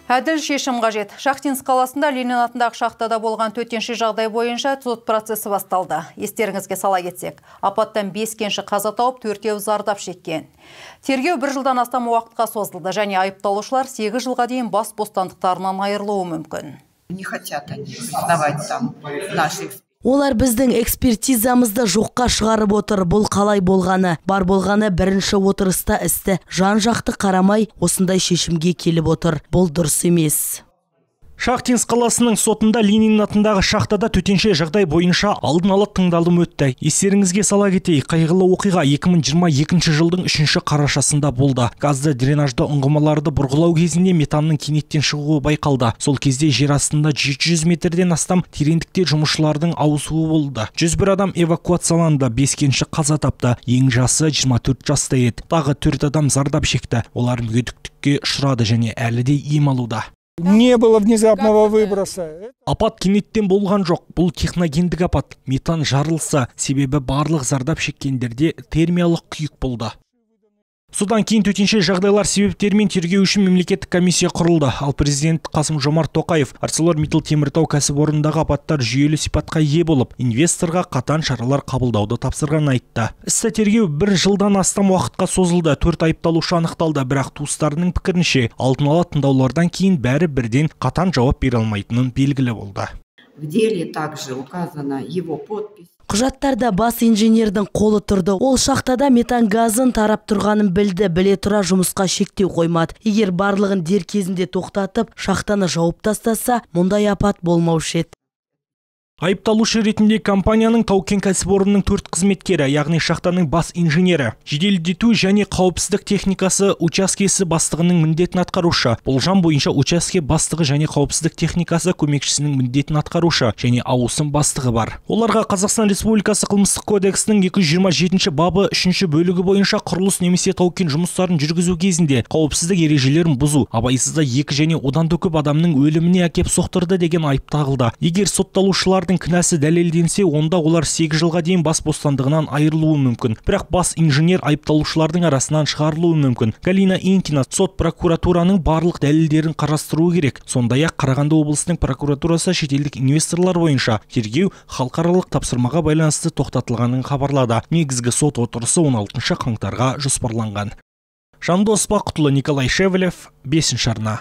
Әділ шешім қажет. Шахтинск қаласында Ленин атындағы шахтада болған төтенше жағдай бойынша сот процесі басталды. Естеріңізге сала кетсек, апаттан 5 кенші қаза тауып, 4-еуі зардап шеккен. Тергеу 1 жылдан астам уақытқа созылды және айыпталушылар 8 жылға дейін бас бостандықтарынан айырылуы мүмкін. Не хотят они признавать там наши. Олар біздің экспертизамызды жоққа шығарып отыр. Бұл қалай болғаны? Бар болғаны бірінші отырыста істі жан-жақты қарамай осындай шешімге келіп отыр. Бұл дұрыс емес. Шахтинск қаласының сотында Ленин атындағы шахтада төтенше жағдай бойынша алдын ала тыңдалым өтті. Естеріңізге сала кетейік, қайғылы оқиға 2022 жылдың 3 қарашасында болды. Газды дренажды ұңғымаларды бұрғылау кезінде метанның кенеттен шығуы байқалды. Сол кезде жер астында 700 метрден астам тереңдікте жұмысшылардың ауысуы болды. 101 адам эвакуацияланды, 5 кенші қаза тапты. Ең жасы 24 жаста еді. Тағы 4 адам зардап шекті. Олар мүгедектікке ұшырады және әлі де ем алуда. Не было внезапного выброса. Апат кенеттен болған жоқ. Бұл техногендік апат. Метан жарылса, себебі барлық зардап шеккендерде термиялық күйік болды. Содан кейін төтенше жағдайлар себептерімен тергеу үшін мемлекеттік комиссия құрылды. Ал президент Қасым-Жомарт Тоқаев ArcelorMittal Теміртау кәсіпорнындағы апаттар жүйелі сипатқа ие болып, инвесторға қатаң шаралар қабылдауды тапсырған айтты. Істі тергеу 1 жылдан астам уақытқа созылды. 4 айыпталушы анықталды, бірақ туыстарының пікірінше алдын ала тыңдаулардан кейін бәрі бірден қатаң жауап бере алмайтынын белгілі болды. В деле также указана его подпись. Құжаттарда бас инженердің қолы тұрды. Ол шахтада метан газын тарап тұрғанын білді, біле тұра жұмысқа шектеу қоймады. Егер барлығын дер кезінде тоқтатып, шахтаны жауып тастаса, мұндай апат болмаушы еді. Айыпталушы ретінде компанияның Тау-кен кәсіпорнының 4 қызметкері, яғни шахтаның бас инженері, жеделдету және қауіпсіздік техникасы учаскесі бастығының міндетін атқарушы, болжам бойынша учаске бастығы және қауіпсіздік техникасы көмекшісінің міндетін атқарушы және ауысым бастығы бар. Оларға Қазақстан Республикасы қылмыстық кодексінің 227 бабы 3 бөлігі бойынша құрылыс немесе тау-кен жұмыстарын жүргізу кезінде қауіпсіздік ережелерін бұзу, абайсызда 2 және одан да көп адамның өліміне әкеп соқтырды деген айып тағылды. Егер сотталушылар кінәсі дәлелденсе, онда олар 8 жылға дейін бас бостандығынан айырылуы мүмкін. Бірақ бас инженер айыпталушылардың арасынан шығарылуы мүмкін. Галина Инкина сот прокуратураның барлық дәлелдерін қарастыруы керек. Сондай-ақ Қарағанды облысының прокуратурасы шетелдік инвесторлар бойынша тергеу халықаралық тапсырмаға байланысты тоқтатылғанын хабарлады. Негізгі сот отырысы 16 қаңтарға жоспарланған. Жандос Бақытұлы, Николай Шевелев, 5 арна.